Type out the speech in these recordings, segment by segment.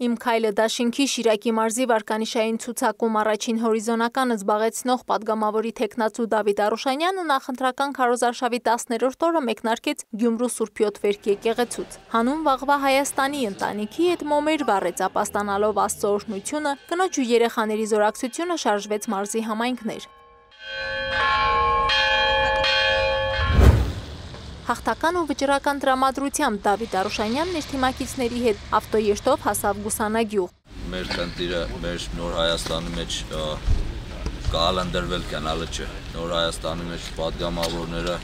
Իմ քայլը դաշինքի Շիրակի մարզի վարկանիշային ցուցակում առաջին հորիզոնականը զբաղեցնող պատգամավորի թեկնածու Դավիթ Արուշանյանը նախընտրական քարոզարշավի 10-րդ օրը մեկնարկեց Գյումրու Սուրբ Յոթվերք եկեղեցուց։ Հանուն վաղվա Հայաստանի ընտանիքի հետ մոմեր վառեց ապաստանալով Աստծո օրհնությունը, կնոջ ու երեխաների զորակցությունը շարժվեց մարզի համայնքներ։ Հաղթական ու վճռական տրամադրությամբ Դավիթ Արուշանյանն իր թիմակիցների հետ ավտոերթով հասավ Գուսանագյուղ։ Մեր խնդիրը մեր նոր Հայաստանի մեջ կալանդրվել կյանալը չէ։ Նոր Հայաստանի մեջ պատգամավորները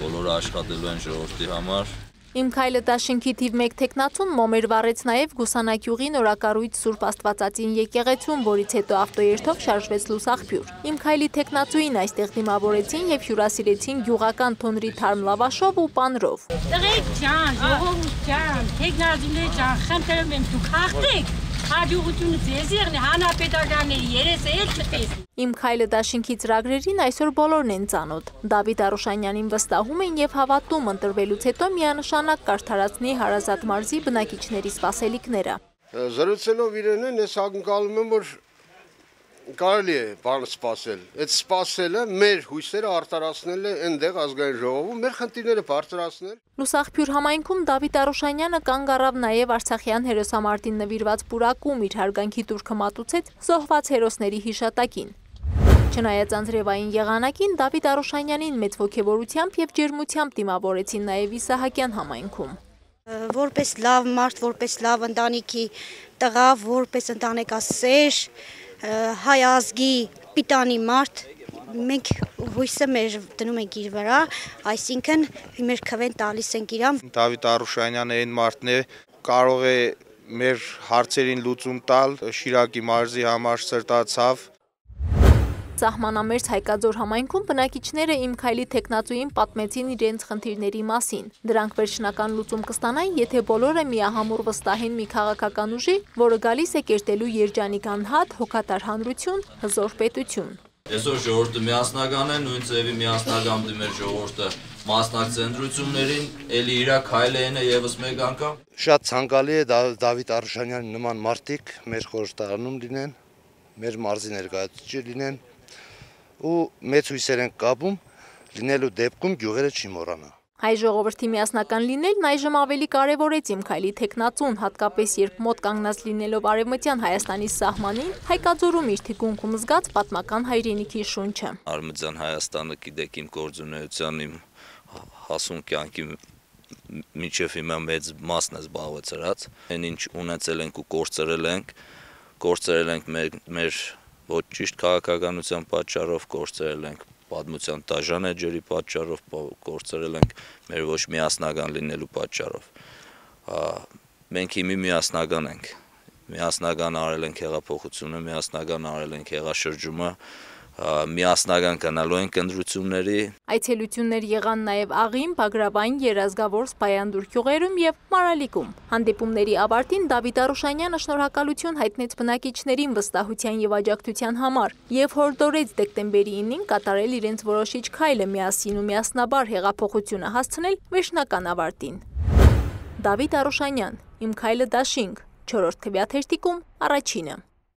բոլորը աշխատելու են ժողովրդի համար։ Իմ քայլը դաշինքի թիվ 1 թեկնածուն մոմեր վառեց նաև Գուսանագյուղի նորակառույց Սուրբ Աստվածածին եկեղեցում, որից հետո ավտոերթով շարժվեց Լուսաղբյուր։ Իմ քայլի թեկնածուին այստեղ դիմավորեցին եւ հյուրասիրեցին գյուղական թոնրի թարմ լավաշով ու պանրով։ Տղեկ ջան, ժողովուրդ ջան, թեկնածուներ ջան, խնդրում եմ դուք հաղթեք։ Հաջողությունը ձեզ եղնի, հանրապետականների երեսը էլ չտեսնի։ Իմ քայլը դաշինքի ծրագրերին այսօր բոլորն են ծանոթ։ Դավիթ Արուշանյանին վստահում են եւ հավատում ընտրվելուց հետո միանշանակ կարդարացնի հարազատ մարզի բնակիչների սպասելիքները։ Զրուցելով իրենն ես ակնկալում եմ, որ կարելի է բան սպասել։ Այդ սպասելը մեր հույսերը արտարացնել է այնտեղ ազգային ժողովում, մեր խնդիրները բարձրացնել։ Լուսաղբյուր համայնքում Դավիթ Արուշանյանը կանգ առավ նաև Արցախյան հերոսամարտին նվիրված պուրակում, իր հարգանքի տուրքը մատուցեց զոհված հերոսների հիշատակին։ Չնայած անձրևային եղանակին Դավիթ Արուշանյանին մեծ ոգևորությամբ եւ ջերմությամբ դիմավորեցին նաև Իսահակյան համայնքում։ Որպես լավ մարդ, որպես լավ ընտանիքի տղա, որպես ընտանեկասեր, հայ ազգի պիտանի մարդ, մենք հույսը մեր դնում ենք իր վրա, այսինքն մեր քվեն տալիս ենք իրան։ Դավիթ Արուշանյանը այն մարդն է, կարող է մեր հարցերին լուծում տալ, Շիրակի մարզի համար սրտացավ։ Սահմանամերձ Հայկաձոր համայնքում բնակիչները Իմ քայլի թեկնածուին պատմեցին իրենց խնդիրների մասին։ Դրանք վերջնական լուծում կստանային, եթե բոլորը միահամուռ վստահեն մի քաղաքական ուժի, որը գալիս է կերտելու երջանիկ անհատ, հոգատար հանրություն, հզոր պետություն։ Այսօր ժողովուրդը միասնական է, նույն ձևի միասնական դիմեր ժողովուրդը մասնակցի ընտրություններին, էլի իրա քայլերն է եւս մեկ անգամ։ Շատ ցանկալի է Դավիթ Արուշանյանի նման մարդիկ մեր խորհրդարանում լինեն, մեր մարզի ներկայացուցիչ լինեն ու մեծ հույսեր են կապում լինելու դեպքում գյուղերը չի մոռանա։ Հայ ժողովրդի միասնական լինելն այժմ ավելի կարևորեց Իմ քայլի թեկնածուն, հատկապես երբ մոտ կանգնած լինելով արևմտյան Հայաստանի սահմանին, Հայկաձորում իր թիկունքում զգաց պատմական հայրենիքի շունչը։ Արևմտյան Հայաստանը գիտեք իմ գործունեության, իմ հասուն կյանքի մինչև հիմա մեծ մասն է զբաղեցրած։ Այն ինչ ունեցել ենք ու կորցրել ենք մեր ոչ ճիշտ քաղաքականության պատճառով, կորցրել ենք պատմության դաժան էջերի պատճառով, կորցրել ենք մեր ոչ միասնական լինելու պատճառով։ Մենք հիմի միասնական ենք, միասնական արել ենք հեղափոխությունը, միասնական արել ենք հեղաշրջումը, միասնական կանալու ենք ընտրությունների։ Այցելություններ եղան նաև Աղին, Բագրավային, Երազգավոր, Սպայանդուր գյուղերում եւ Մարալիկում։ Հանդիպումների ավարտին Դավիթ Արուշանյանը շնորհակալություն հայտնեց բնակիչներին վստահության եւ աջակցության համար եւ հորդորեց դեկտեմբերի 9-ին կատարել իրենց որոշիչ քայլը միասին ու միասնաբար հեղափոխությունը հասցնել վերջնական ավարտին։ Դավիթ Արուշանյան, Իմ քայլը դաշինք, 4-րդ քվեաթերթիկում առաջինը։